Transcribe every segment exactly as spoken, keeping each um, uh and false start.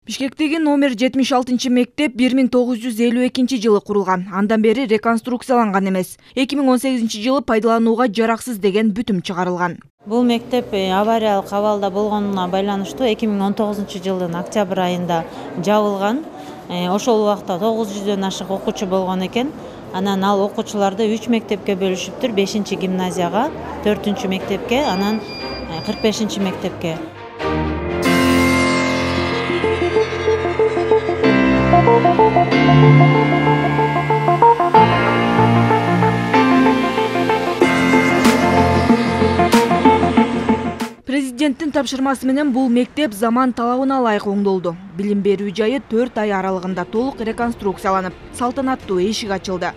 Бишкектеги номер жетимиш алтынчы мектеп бир миң тогуз жүз элүү экинчи жылы курулган. Андан бери реконструкцияланган эмес. эки миң он сегизинчи жылы пайдаланууга жараксыз деген бүтүм чыгарылган. Бул мектеп авариялык абалда болгонуна байланыштуу эки миң он тогузунчу жылдын октябрь айында жабылган. Ошол убакта тогуз жүздөн ашык окуучу болгон экен. Анан ал окуучуларды үч мектепке бөлүшүптүр. бешинчи гимназияга, төртүнчү мектепке, анан кырк бешинчи мектепке. Президенттин тапшырмасы менен бул мектеп заман талабына ылайык оңдолду. Билим берүү жайы төрт ай аралыгында толук реконструкцияланып, салтанаттуу эшик ачылды.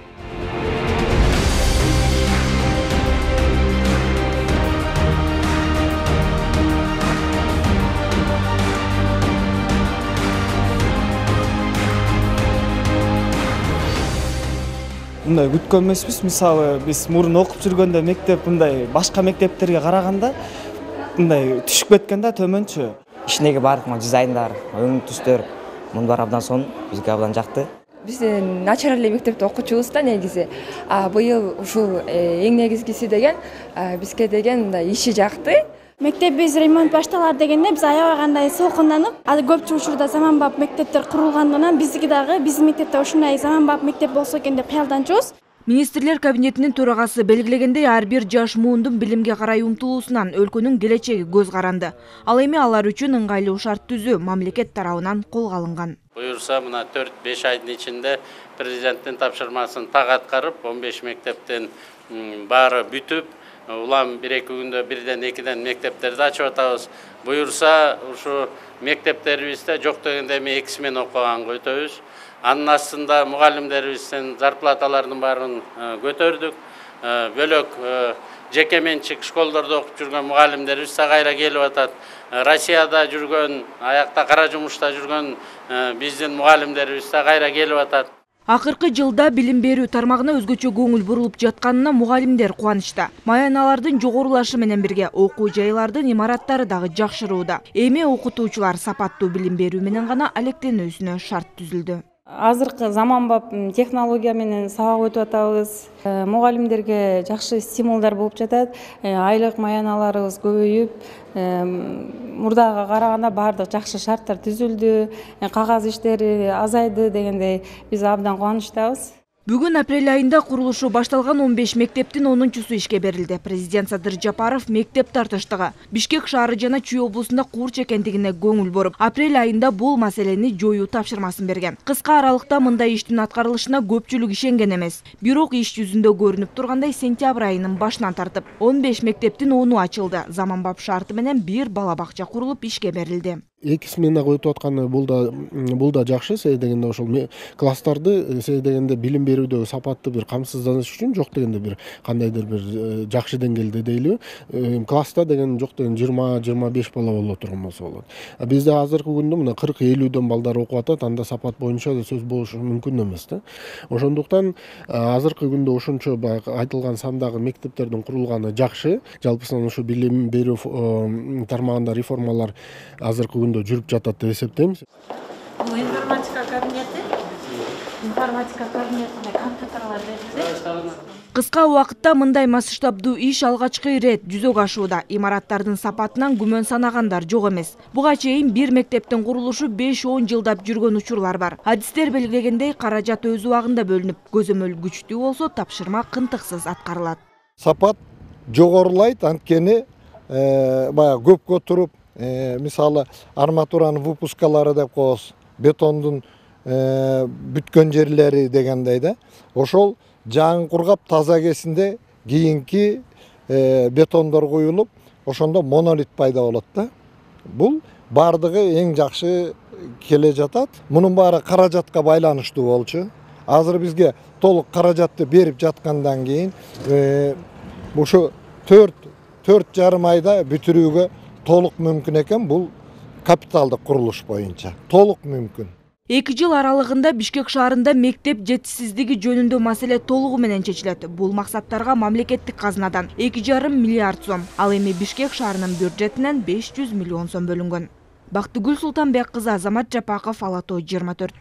Мындай күткөн эмеспиз. Мисалы, биз мурун окуп жүргөндө мектеп мындай башка мектептерге караганда мындай түшүп кеткен да төмөнчү. Ичиндеги баардык дизайндар, өң түстөр муну бар абдан сонун, бизге абдан жакты. Биз начар эле мектепте окучубуз да негизи. А быйыл ушул эң негизгиси деген бизге деген мындай иши жакты. Мектебиз ремонт башталар дегенде биз аябагандай солкунданып, азыр көпчүлүк учурда заманбап мектептер курулгандыгынан биздики дагы биздин мектепте ушундай заманбап мектеп болсо экен деп кыялданчубуз. Министрлер кабинетинин төрагасы белгилегендей, ар бир жаш муундун билимге карай умтулуусунан өлкөнүн келечеги көз каранды. Ал эми алар үчүн ыңгайлуу шарт түзүү мамлекет тарабынан колго алынган. Буюрса, мына төрт беш айдын ичинде президенттин тапшырмасын так аткарып, он беш мектептин баары бүтүп, улам бир эки күндө бирден экиден мектептерди ачып атабыз. Буюрса, ушу мектептерибизде жок дегенде эми эки смена окуганга өтөбүз. Анын астында мугалимдерибиздин зарплаталарынын баарын көтөрдүк. Бөлөк жеке менчик школдордо окуп жүргөн мугалимдерибиз кайра келип атат. Россияда жүргөн, аякта кара жумушта жүргөн биздин мугалимдерибиз кайра келип атат. Акыркы жылда билим берүү тармагына өзгөчө көңүл бурулуп жатканына мугалимдер кубанычта. Маяналардын жогорулашы менен бирге окуу жайлардын имараттары дагы жакшырууда. Эми окутуучулар сапаттуу билим берүү менен гана алектенүүсүнө шарт түзүлдү. Азыркы заманбап технология менен сабак өтүп атабыз. Мугалимдерге жакшы стимулдар болуп жатат. Айлык маяналарыбыз көбөйүп, мурдага караганда баардык жакшы шарттар түзүлдү. Кагаз иштери азайды дегендей биз абдан кубанычтабыз. Бүгүн апрель айында курулушу башталган он беш мектептин онунчусу ишке берилди. Президент Садыр Жапаров мектеп тартыштыгы Бишкек шаары жана Чүй облусунда курч экендигине көңүл буруп, апрель айында бул маселени жоюу тапшырмасын берген. Кыска аралыкта мындай иштин аткарылышына көпчүлүк ишенген эмес. Бирок иш жүзүндө көрүнүп тургандай сентябрь айынын башынан тартып он беш мектептин ону ачылды. Заманбап шарты менен бир бала бакча курулуп ишке берилди. Эки сменага өтүп атканы бул да бул да жакшы. Себеби дегенде ошол класстарды себеби дегенде билим берүүдө сапаттуу бир камсызданыш үчүн жок дегенде бир кандайдыр бир жакшы деңгээлде дейлиби. Класста деген жок деген жыйырма жыйырма беш бала боло турган болсо болот. Бизде азыркы күндө мына кырк элүүдөн балдар окуп атат. Анда сапат боюнча да сөз болушу мүмкүн эмес да. Ошондуктан азыркы күндө ошончо айтылган сандагы мектептердин курулганы жакшы. Жалпысынан ушу билим берүү тармагында реформалар азыркы күндө жүрүп жатат деп эсептейм. Бул информатика кабинети, информатика кабинетине компьютерлер берилди. Кыска убакытта мындай масштабдуу иш алгачкы ирет жүзөгө ашууда. Имараттардын сапатынан күмөн санагандар жок эмес. Буга чейин бир мектептин курулушу беш он жылдап жүргөн учурлар бар. Адистер белгилегендей, каражат өз убагында бөлүнүп, көзөмөл күчтүү болсо тапшырма кынтыксыз аткарылат. Сапат жогорулайт, анткени баягы көпкө туруп, мисалы арматуранын выпускалары деп коебуз, бетондун бүткөн жерлери дегендей да. Ошол жаңы кургап таза кезинде кийинки бетондор куюлуп, ошондо монолит пайда болот да. Бул бардыгы эң жакшы келе жатат. Мунун баары каражатка байланыштуу болчу. Азыр бизге толук каражатты берип жаткандан кийин ушу төрт төрт жарым айда бүтүрүүгө толук мүмкүн экен. Бул капиталдык курулуш боюнча толук мүмкүн. эки жыл аралыгында Бишкек шаарында мектеп жетишсиздиги жөнүндө маселе толугу менен чечилет. Бул максаттарга мамлекеттик казынадан эки жарым миллиард сом, ал эми Бишкек шаарынын бюджетинен беш жүз миллион сом бөлүнгөн. Бактыгүл Султанбек кызы, Азамат Жапаков, Ала Тоо жыйырма төрт.